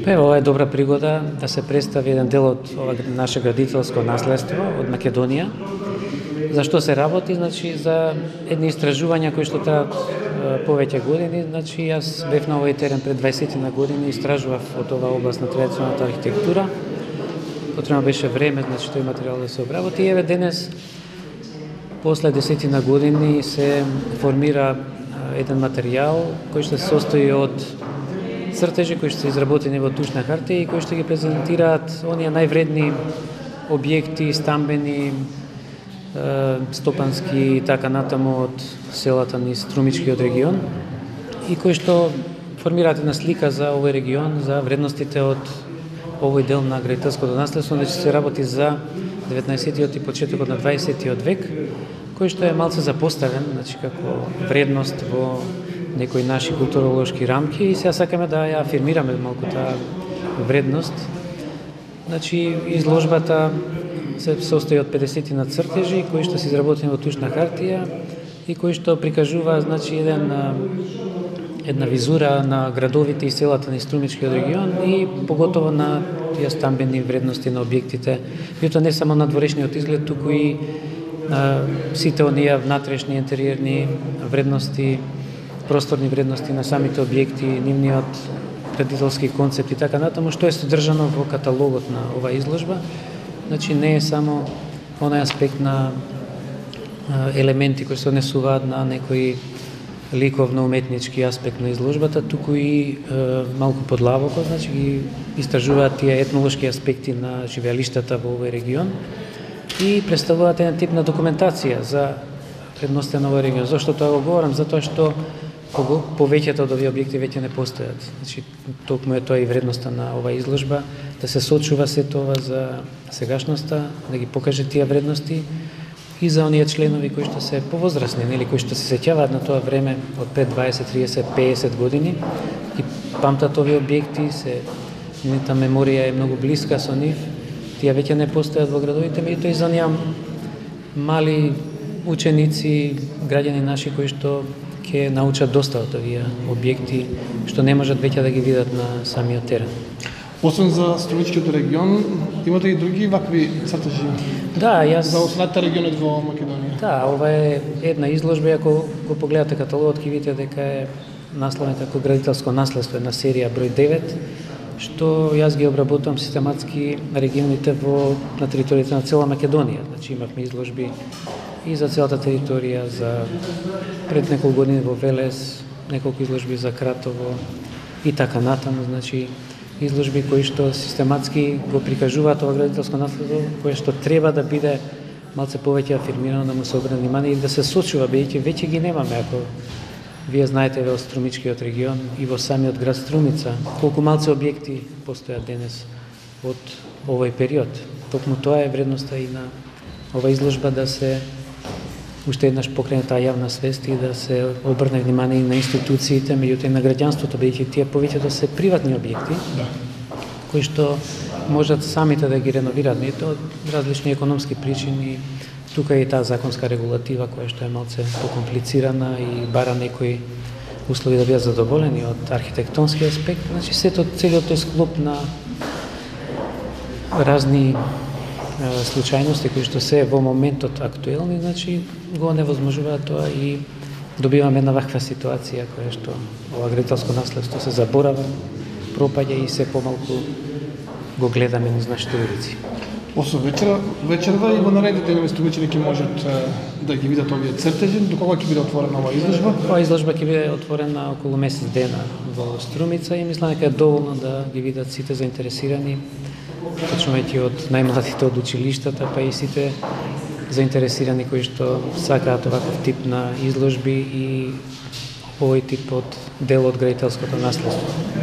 Ова е добра пригода да се представи еден дел од ова наше градителско наследство од Македонија. Зашто се работи? Значи, за едни истражувања кои што траат повеќе години. Значи, јас бев на овој терен пред 20 на години, истражував од оваа област на традиционалната архитектура. Потребно беше време, значи, тој материјал да се обработи. И еве денес, после 10 на години, се формира еден материјал кој што се состои од цртежи кои што се изработени во тушна хартија и кои што ги презентираат оние највредни објекти, стамбени, стопански и така натаму од селата низ Струмичкиот регион и кои што формираат една слика за овој регион, за вредностите од овој дел на градителското наследство. Значи се работи за 19-тиот и почетокот на 20-тиот век, кој што е малце запоставен, значи како вредност во некои наши културолошки рамки и сега сакаме да ја афирмираме малку таа вредност. Значи изложбата се состои од 50 на цртежи кои што се изработени во тушна хартија и кои што прикажува, значи, една визура на градовите и селата на Струмичкиот регион и поготово на тие стамбени вредности на објектите. Меѓутоа не само на дворешниот изглед, туку и сите оние внатрешни интериерни вредности, просторни вредности на самите објекти, нивниот градителски концепт и така натаму, што е содржано во каталогот на оваа изложба. Значи не е само онај аспект на елементи кои се однесуваат на некои ликовно-уметнички аспект на изложбата, туку и малку подлабоко, значи ги истражуваат тие етнолошки аспекти на живеалиштата во овој регион и представуваат еден тип на документација за вредността на овој регион. Зошто тоа го говорам? Затоа што повеќето од овие објекти веќе не постојат. Значи, токму е тоа и вредноста на оваа изложба, да се сочува се тоа за сегашноста, да ги покаже тие вредности и за оние членови кои што се повозрасни, нели, кои што се сеќаваат на тоа време од пред 20, 30, 50 години и памтат овие објекти, нивната меморија е многу блиска со нив. Тие веќе не постојат во градовите, меѓутоа и за оние мали ученици, граѓани наши кои што ќе научат доста од овие објекти што не можат веќе да ги видат на самиот терен. Освен за Струмичкиот регион, имате и други вакви цртежи? Да, за останатите региони во Македонија. Да, ова е една изложба, ако го погледате каталогот ќе видите дека е насловен како градителско наследство, една серија број 9, што јас ги обработувам систематски регионите на територијата на цела Македонија. Значи имавме изложби и за целата територија, за пред неколку години во Велес, неколку изложби за Кратово и така натаму, значи изложби кои што систематски го прикажуваат ова градителско наследство, кое што треба да биде малце повеќе афирмирано, да му се обрне внимание и да се сочува, бидејќи веќе ги немаме. Ако вие знаете во Струмичкиот регион и во самиот град Струмица, колку малце објекти постојат денес од овој период. Токму тоа е вредноста и на ова изложба, да се уште еднаш покрене таа јавна свест и да се обрне внимание и на институциите, меѓутоа и на граѓанството, бидејќи тие повеќето се приватни објекти, кои што можат самите да ги реновираат, меѓутоа од различни економски причини. Тука е и таа законска регулатива која што е малце покомплицирана и бара некои услови да бидат задоволени од архитектонски аспект. Значи целиот тој склоп на разни случајности кои што се во моментот актуелни, значи го невозможуваат тоа и добиваме една ваква ситуација која што ова градителско наследство се заборава, пропаѓа и се помалку го гледаме низ нашите улици. Освен вечерва и во наредните инвестиции ќе можат да ги видат овие цртежи. До кога ќе биде отворена оваа изложба? Оваа изложба ќе биде отворена околу месец дена во Струмица и мислам дека е доволно да ги видат сите заинтересирани, почнувајќи од најмладите од училиштата, па и сите заинтересирани кои што сакаат оваков тип на изложби и овој тип од дел од градителското наследство.